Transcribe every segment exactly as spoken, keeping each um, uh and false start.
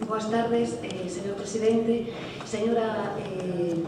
Boas tardes, eh, señor presidente. Señora eh,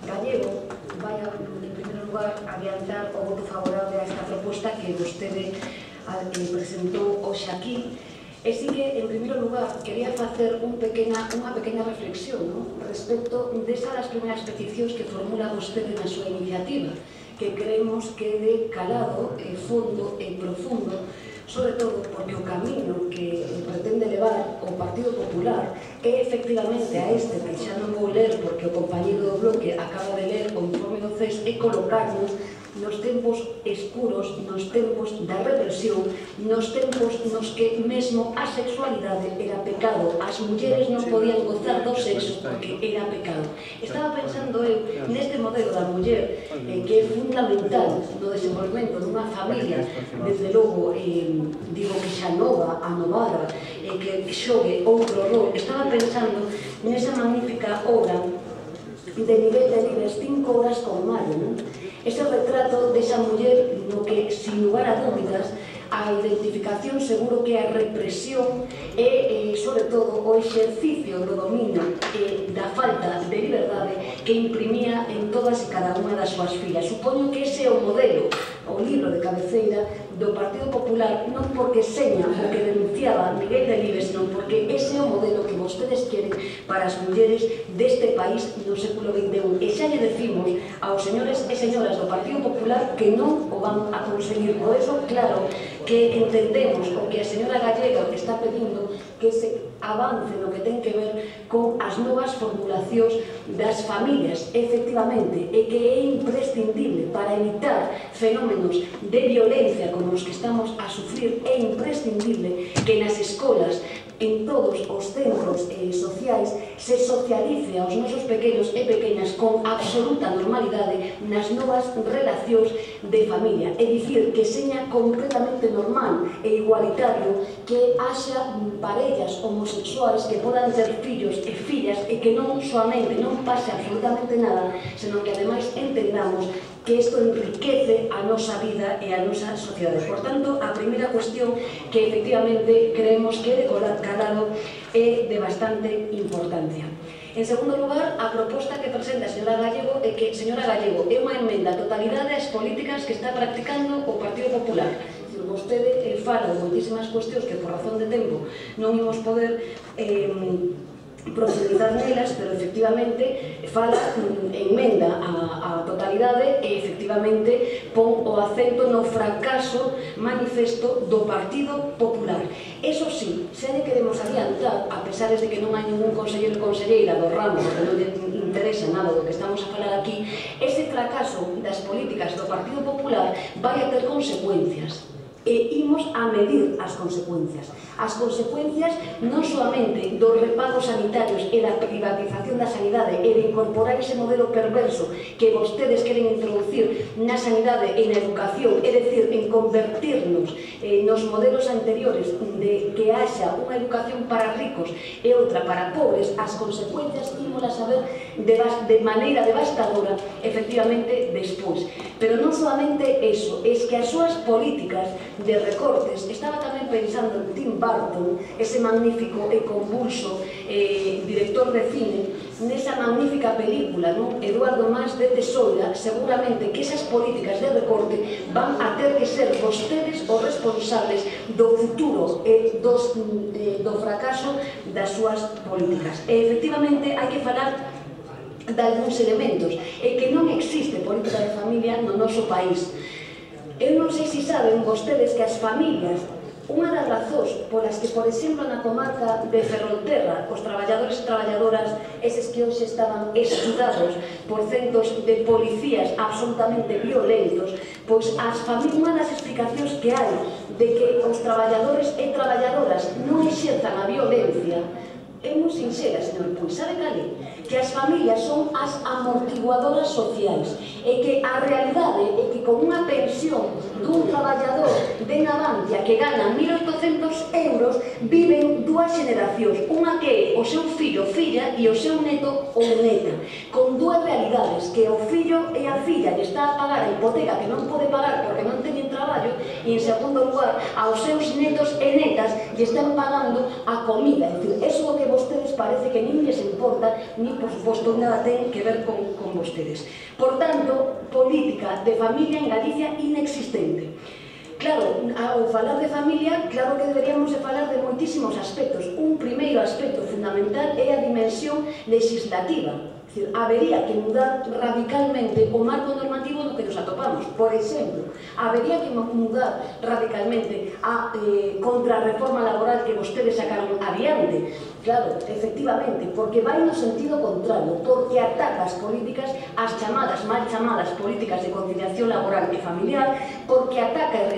Gallego, vai a, en primeiro lugar, adiantar o voto favorable a esta proposta que vostede eh, presentou hoxe aquí. E si que, en primeiro lugar, quería facer un pequena, unha pequena reflexión, ¿no?, respecto desa das primeiras peticións que formula vostede na súa iniciativa, que creemos que de calado, eh, fondo e profundo, sobre todo porque o camino que pretende levar o Partido Popular é efectivamente a este, que xa non vou ler porque o compañeiro do bloque acaba de ler o informe do C E S, é colocarnos nos tempos escuros, nos tempos da represión, nos tempos nos que mesmo a sexualidade era pecado, as mulleres non podían gozar do sexo porque era pecado. Estaba pensando eu neste modelo da muller eh, que é fundamental no desenvolvemento dunha familia, desde logo, eh, digo que xa nova, anovada, eh, que xogue outro rol. Estaba pensando nesa magnífica obra de Miguel Delibes, Cinco horas con Mario, non? Ese retrato desa muller no que, sin lugar a dúbidas, a identificación seguro que a represión e, eh, sobre todo, o exercicio do dominio eh, da falta de liberdade que imprimía en todas e cada unha das súas fillas. Supoño que ese é o modelo, o libro de cabeceira do Partido Popular, non porque seña o que denunciaba Miguel Delibes, non porque ese é o modelo que vostedes queren para as mulleres deste país no século vinte e un. E xa lle decimos aos señores e señoras do Partido Popular que non o van a conseguir. Por eso, claro, que entendemos o que a señora Gallego está pedindo, que se avance no que ten que ver con as novas formulacións das familias, efectivamente, e que é imprescindible para evitar fenómenos de violencia como os que estamos a sufrir. É imprescindible que nas escolas, en todos os centros eh, sociais, se socialice aos nosos pequenos e pequenas con absoluta normalidade nas novas relacións de familia. É dicir, que seña completamente normal e igualitario que haxa parellas homosexuais que podan ter fillos e fillas e que non solamente non pase absolutamente nada, senón que ademais entendamos que isto enriquece a nosa vida e a nosa sociedade. Por tanto, a primeira cuestión que efectivamente creemos que de calado é de bastante importancia. En segundo lugar, a proposta que presenta a señora Gallego é que, señora Gallego, é unha emenda a totalidade ás políticas que está practicando o Partido Popular. Vostede fala de moitísimas cuestións que por razón de tempo non imos poder eh, profundizar nelas, pero efectivamente fala, enmenda a, a totalidade e efectivamente pon o acento no fracaso manifesto do Partido Popular. Eso sí, xa lle queremos adiantar, a pesar de que non hai ningún conselleiro ou conselleira do ramo, porque non lle interesa nada do que estamos a falar aquí, ese fracaso das políticas do Partido Popular vai a ter consecuencias. E imos a medir as consecuencias. As consecuencias non solamente dos repagos sanitarios e da privatización da sanidade e de incorporar ese modelo perverso que vostedes queren introducir na sanidade e na educación, é dicir, en convertirnos eh, nos modelos anteriores de que haxa unha educación para ricos e outra para pobres. As consecuencias imos a saber de, de maneira devastadora efectivamente despois. Pero non solamente eso, é que as súas políticas de recortes, estaba tamén pensando en Tim Burton, ese magnífico e convulso eh, director de cine, nesa magnífica película, non? Eduardo Mas de Tesoira, seguramente que esas políticas de recorte van a ter que ser vostedes os responsables do futuro e dos, eh, do fracaso das súas políticas. E efectivamente hai que falar de algúns elementos, e que non existe política de familia no noso país. Eu non sei se saben vostedes que as familias, unha das razóns polas que, por exemplo, na comarca de Ferrolterra, os traballadores e traballadoras, eses que hoxe estaban estudados por centos de policías absolutamente violentos, pois as familias, unha das explicacións que hai de que os traballadores e traballadoras non exerzan a violencia é moi sincera, señor Puig. Sabe cal é? Que as familias son as amortiguadoras sociais e que a realidade é que con unha pensión dun traballador de Navantia que gana mil oitocentos euros viven dúas generacións, unha que é o seu fillo, filla, e o seu neto ou neta, con dúas realidades, que o fillo e a filla lle está a pagar a hipoteca que non pode pagar porque non teñen traballo, e en segundo lugar aos seus netos e netas lle están pagando a comida. É dicir, eso é o que vostede parece que nin les importa, ni, por suposto, nada ten que ver con, con vostedes. Por tanto, política de familia en Galicia inexistente. Claro, ao falar de familia, claro que deberíamos de falar de moitísimos aspectos. Un primeiro aspecto fundamental é a dimensión legislativa. É dicir, habería que mudar radicalmente o marco normativo no que nos atopamos. Por exemplo, habería que mudar radicalmente a eh, contrarreforma laboral que vostedes sacaron adiante. Claro, efectivamente, porque vai no sentido contrario, porque ataca as políticas, as chamadas, mal chamadas políticas de conciliación laboral e familiar, porque ataca e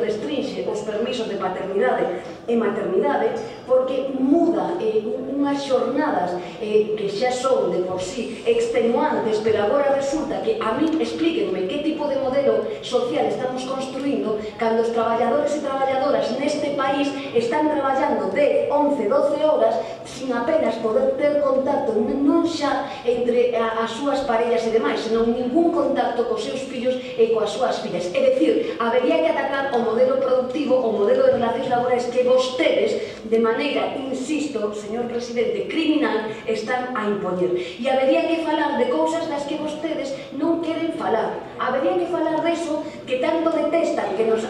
restringe os permisos de paternidade e maternidade, porque muda eh, unhas xornadas eh, que xa son de por sí extenuantes, pero agora resulta que a mí explíquenme que tipo de modelo social estamos construindo cando os traballadores e traballadoras neste país están traballando de once, doce horas sin apenas poder ter contacto non xa entre as súas parellas e demais, senón ningún contacto cos seus fillos e coas súas fillas. É dicir, habería que atacar o modelo productivo, o modelo de relacións laborais que vostedes, de maneira, insisto, señor presidente, criminal, están a impoñer. E habería que falar de cousas das que vostedes non queren falar. Habería que falar deso que tanto detestan, que nos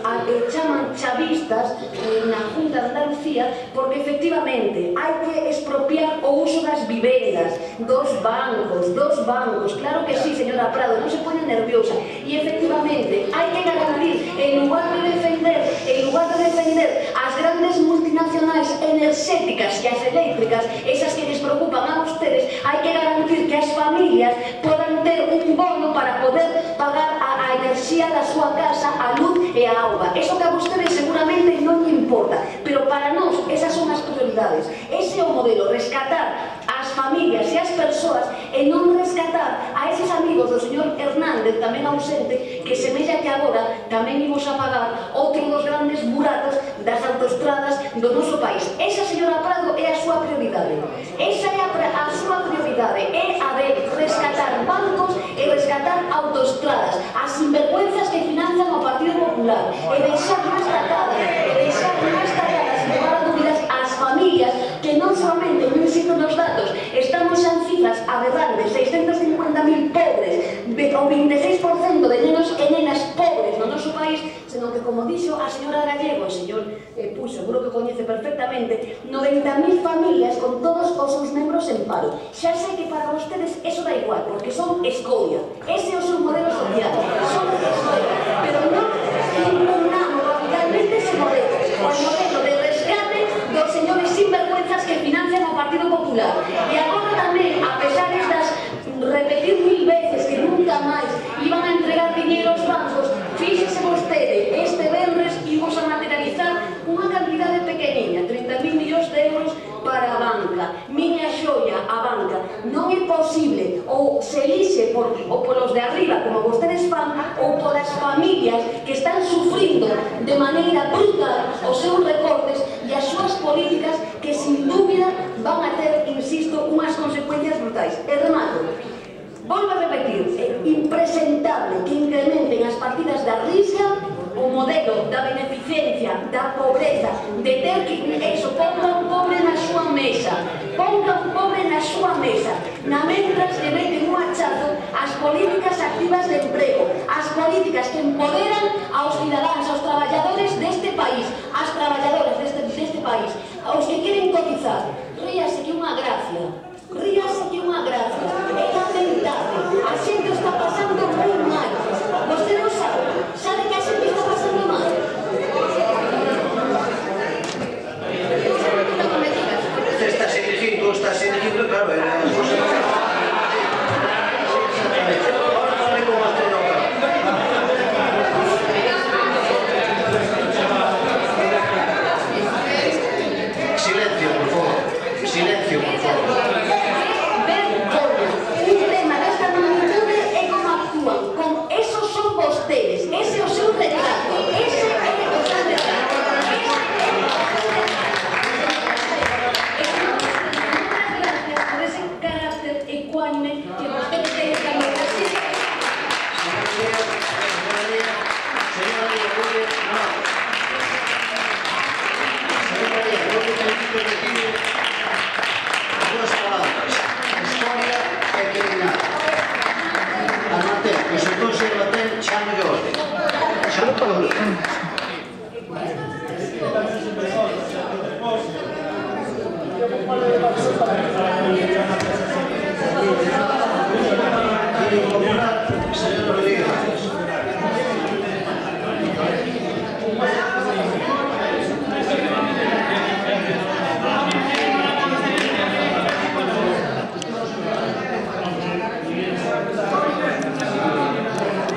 chaman chavistas na Junta de Andalucía, porque efectivamente hai que expropiar o uso das vivendas, dos bancos, dos bancos, claro que sí, señora Prado, non se pone nerviosa, e efectivamente hai que garantir, en lugar de defender, en lugar de defender as grandes multinacionais enerxéticas e as eléctricas, esas que les preocupan a ustedes, hai que garantir que as familias podan ter un bono para poder pagar a, a enerxía da súa casa, a luz e a auga. Eso que a ustedes seguramente non lle importa, pero para nós esas son as prioridades. Ese é o modelo, rescatar as familias e as persoas e non rescatar a eses amigos do señor Hernández, tamén ausente, que semella que agora tamén imos a pagar outro dos grandes buratos das autoestradas do noso país. Esa, señora Prado, é a súa prioridade. Esa é a, a súa prioridade, é a de rescatar bancos e rescatar autoestradas, as sinvergüenzas que financian o Partido Popular, e deixar máis tacadas, e deixar máis tacadas, sin lugar a dúbidas, as familias que non solamente, non insisto nos datos, estamos xa en cifras aberrantes, seiscentos cincuenta mil pobres, o vinte e seis por cento de nenos e nenas pobres no noso país, senón que, como dixo a señora Gallego, o señor eh, Puxo, seguro que coñece perfectamente, noventa mil familias con todos os seus membros en paro. Xa sei que para vostedes eso da igual, porque son escoria. Ese é o seu modelo social, son escoria, pero non impugnamos radicalmente ese modelo, o modelo de rescate dos señores sinvergüenzas que financian o Partido Popular. E agora tamén, a pesar das repetir mil veces que nunca máis iban a entregar dinheiro aos bancos, fíxese vostede, este venres imos a materializar unha cantidade pequeniña, trinta mil millóns de euros para a banca. Miña xoia, a banca. Non é posible, ou se elixe por, ou polos de arriba, como vostedes fan, ou polas familias que están sufrindo de maneira brutal os seus recortes e as súas políticas que, sin dúbida, van a ter, insisto, unhas consecuencias brutais. E remato. Volvo a repetir, é impresentable que incrementen as partidas da risca, o modelo da beneficencia, da pobreza, de ter que, eso, ponga un pobre na súa mesa, ponga un pobre na súa mesa, na mentras que meten un hachazo as políticas activas de emprego, as políticas que empoderan aos cidadáns, aos traballadores deste país, as traballadoras deste, deste país, aos que queren cotizar. Ríase que unha gracia. Ríase que unha gracia, é lamentable, a xente está pasando moi mal. Vostè non sabe, sabe que a xente está pasando mal. Usted está dirigindo, está dirigindo, claro, é a cosa. Ahora fale con a Silencio, por favor. Silencio, por favor. Ese é o seu retrato, ese é o seu retrato. Gracias por ese carácter Xa non podo...